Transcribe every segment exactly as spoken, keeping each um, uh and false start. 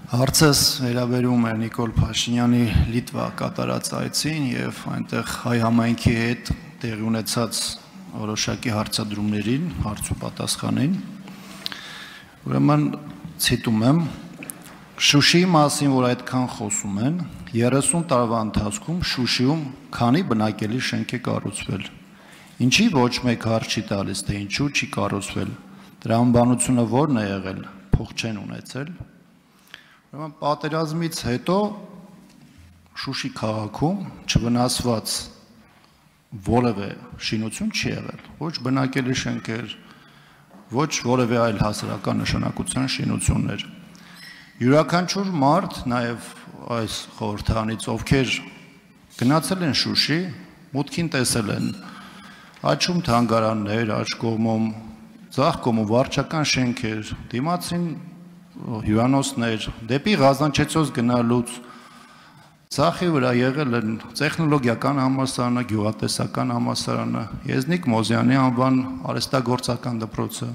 Հարցս վերաբերում է Նիկոլ Փաշինյանի Լիտվա կատարած այցին եւ այնտեղ հայ համայնքի հետ տեղի ունեցած որոշակի հարցադրումներին, հարց ու պատասխանին։ Ուրեմն ցիտում եմ. Շուշիի մասին, որ այդքան խոսում են, երեսուն տարվա ընթացքում Շուշիում քանի բնակելի շենք է կառուցվել։ Ինչի ոչ մեկ հարց չի տալիս, թե ինչու չի կառուցվել։ Դրա անբանությունը ո՞րն է եղել, փող չեն ունեցել։ Ուրեմն պատերազմից հետո Շուշի քաղաքում չվնասված որևէ շինություն չի եղել, ոչ բնակելի շենքեր, ոչ որևէ այլ հասարակական նշանակության շինություններ։ Յուրաքանչյուր մարդ, նաև այս խորհրդանից, ովքեր գնացել են Շուշի, մուտքին տեսել են աճում թանգարաններ, աջ կողմում, ձախ կողմում վարչական շենքեր, դիմացին հյուրանոցներ, դեպի Ղազանչեցոս գնալուց Ցախի վրա եղել են տեխնոլոգիական համալսարանը, գյուղատնտեսական համալսարանը, Եզնիկ Մոզյանի անվան արհեստագործական դպրոցը։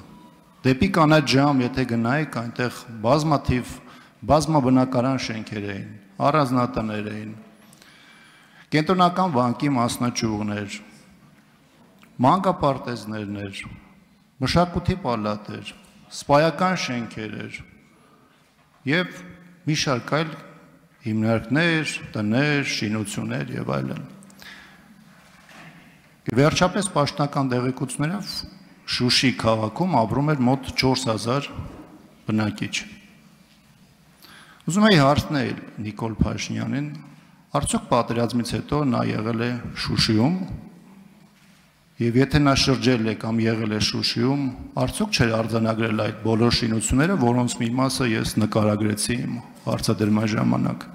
Դեպի Կանաչ Ժամ, եթե գնայիք, այնտեղ բազմաթիվ բազմաբնակարան շենքեր էին, առանձնատներ էին, կենտրոնական բանկի մասնաճյուղներ, մանկապարտեզներներ, մշակույթի պալատեր, սպայական շենքեր էր եւ մի շարք այլ հիմնարկներ, տներ, շինություններ եւ այլն։ Վերջապես պաշտոնական տեղեկություններով Շուշի քաղաքում ապրում էր մոտ չորս հազար բնակիչ։ Ուզում եի հարցնել Նիկոլ Փաշինյանին, արդյոք պատերազմից հետո նա եղել է Շուշիում եւ եթե նա շրջել է կամ եղել է Շուշիում, արդյոք չէր արձանագրել այդ բոլոր շինությունները, որոնց մի մասը ես նկարագրեցի իմ հարցադրման ժամանակ։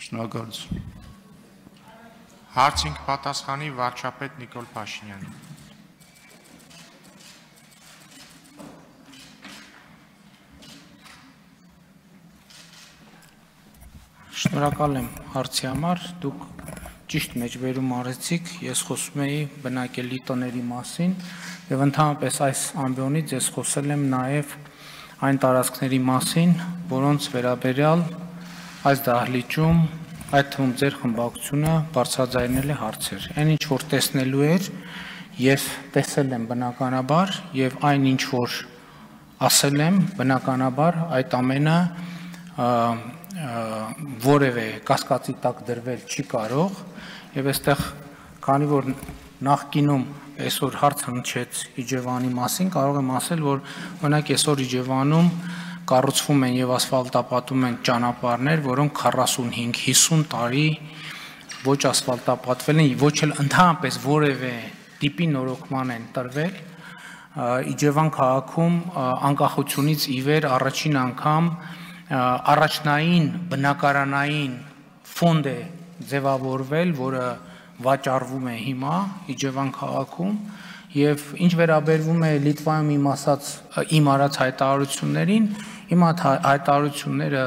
Շնորհակալություն։ Հարցին պատասխանի վարչապետ Նիկոլ Փաշինյանը։ Շնորհակալ եմ հարցի համար, դուք ճիշտ մեջբերում արեցիք, ես խոսում էի բնակելի տների մասին եւ ընդհանրապես այս ամբիոնից ես խոսել եմ նաեւ այն տարածքների մասին, որոնց վերաբերյալ այս դահլիճում, այդ թվում ձեր խմբակցությունը բարձրաձայնել է հարցեր։ Այն ինչ որ տեսնելու էր եւ տեսել եմ բնականաբար եւ այն ինչ որ ասել եմ բնականաբար այդ ամենը որևէ կասկածի տակ դրվել չի կարող եւ այստեղ քանի որ նախկինում այսօր հարց հնչեց Իջևանի մասին կարող եմ ասել որ օրինակ այսօր Իջևանում կառուցվում են եւ ասֆալտապատում են ճանապարհներ որոնք քառասունհինգ հիսուն տարի ոչ ասֆալտապատվել են ոչ էլ ընդհանրապես որևէ տիպի նորոգման են տրվել Իջևան քաղաքում անկախությունից ի վեր առաջին անգամ առաջնային բնակարանային ֆոնդ է ձևավորվել, որը վաճառվում է հիմա Իջևան քաղաքում եւ ինչ վերաբերվում է Լիտվայում իմ ասած իմ արած հայտարարություններին, իմ հայտարարությունները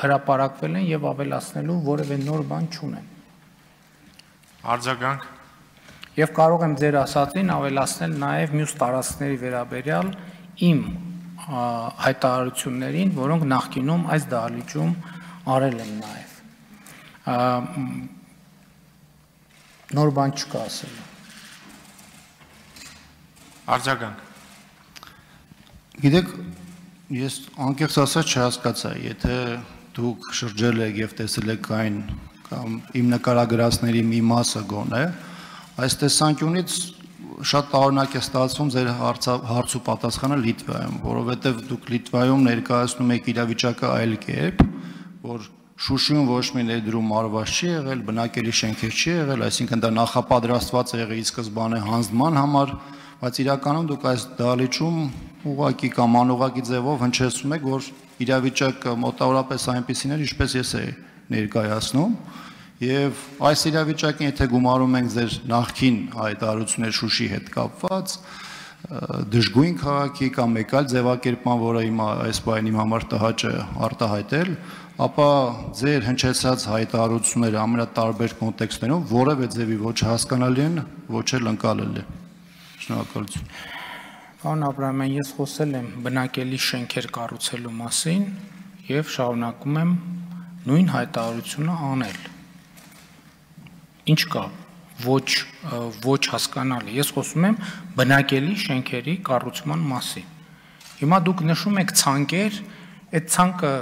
հրապարակվել են եւ ավելացնելու որևէ նոր բան չունեն։ Արձագանք Եվ կարող եմ ձեր ասածին ավելացնել նաեւ մյուս տարածքների վերաբերյալ իմ հայտարարություններին, որոնք նախկինում այս դահլիճում արել են նաև։ Նոր բան չկա ասելու։ Արձագանք Գիտեք, ես անկեղծ ասած չհասկացա, եթե դուք շրջել եք եւ տեսել եք այն կամ իմ նկարագրածների մի մասը գոնե, այս տեսանկյունից շատ տարօրինակ է ստացվում ձեր հարց ու պատասխանը Լիտվայում, որովհետև դուք Լիտվայում ներկայացնում եք իրավիճակը այլ կերպ, որ Շուշիում ոչ մի ներդրում արված չի եղել, բնակելի շենքեր չի եղել, այսինքն դա նախապատրաստված է եղել ի սկզբանե հանձնման համար, բայց իրականում դուք այս դահլիճում ուղղակի կամ անուղղակի ձևով հնչեցնում եք, որ իրավիճակը մոտավորապես այնպիսին էր, ինչպես ես էի ներկայացնում։ Եվ այս իրավիճակին, եթե գումարում ենք ձեր նախկին հայտարարություններ Շուշի հետ կապված, դժգույն քաղաքի կամ մեկ այլ ձևակերպման, որը հիմա այս բանի իմ համար տհաճ է արտահայտել, ապա ձեր հնչեցած հայտարարությունները ամենատարբեր կոնտեքստներում որևէ ձևի ոչ հասկանալի են, ոչ էլ ընկալելի։ Շնորհակալություն։ Պարոն Աբրահամյան, ես խոսել եմ բնակելի շենքեր կառուցելու մասին եւ շարունակում եմ նույն հայտարարությունը անել։ Ինչ կա, ոչ ոչ հասկանալի։ Ես խոսում եմ բնակելի շենքերի կառուցման մասին։ Հիմա դուք նշում եք ցանկեր, այդ ցանկը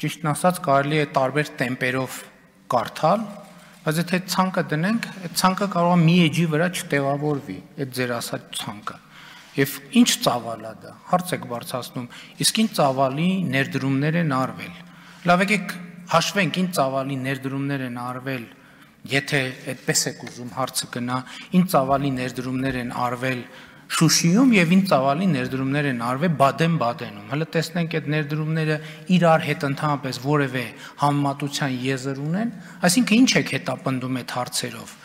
ճիշտն ասած կարելի է տարբեր տեմպերով կարդալ, բայց եթե ցանկը դնենք, այդ ցանկը կարող է մի էջի վրա չտեղավորվի, այդ ձեր ասած ցանկը։ Եվ ինչ ծավալ է դա, հարց եք բարձրացնում, իսկ ինչ ծավալի ներդրումներ են արվել։ Լավ եկեք հաշվենք ինչ ծավալի ներդրումներ են արվել, եթե այդպես եք ուզում հարցը գնա, ինչ ծավալի ներդրումներ են արվել Շուշիում եւ ինչ ծավալի ներդրումներ են արվել Բադեն-Բադենում։ Հələ տեսնենք այդ ներդրումները իրար հետ ընդհանրապես որևէ համեմատության եզր ունեն, այսինքն ինչ եք հետապնդում այդ հարցերով։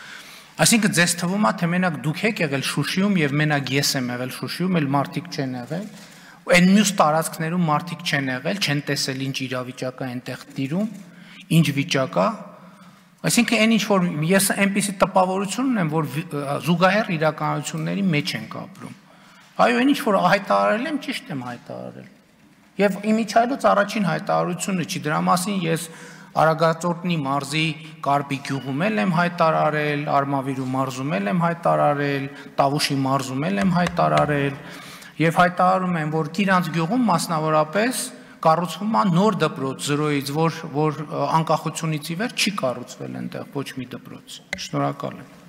Այսինքն ձեզ թվում է թե մենակ դուք եք եղել Շուշիում եւ մենակ ես եմ եղել Շուշիում, այլ մարդիկ չեն եղել։ Այն մյուս տարածքներում մարդիկ չեն եղել, չեն տեսել ինչ իրավիճակա այնտեղ տիրում, ինչ վիճակա։ Այսինքն այն ինչ որ ես այնպիսի տպավորություն ունեմ, որ զուգահեռ իրականությունների մեջ ենք ապրում։ Այո, այն ինչ որ հայտարարել եմ, ճիշտ եմ հայտարարել։ Եվ իմիջիայլոց առաջին հայտարարությունը չի, դրա մասին ես Արագածոտնի մարզի Կարպի գյուղում եմ հայտարարել, Արմավիրու մարզում եմ հայտարարել, Տավուշի մարզում եմ հայտարարել, եւ հայտարարում եմ, որ Կիրանց գյուղում մասնավորապես կառուցվում է նոր դպրոց զրոյից, որ որ անկախությունից ի վեր չի կառուցվել այնտեղ ոչ մի դպրոց։ Շնորհակալ եմ։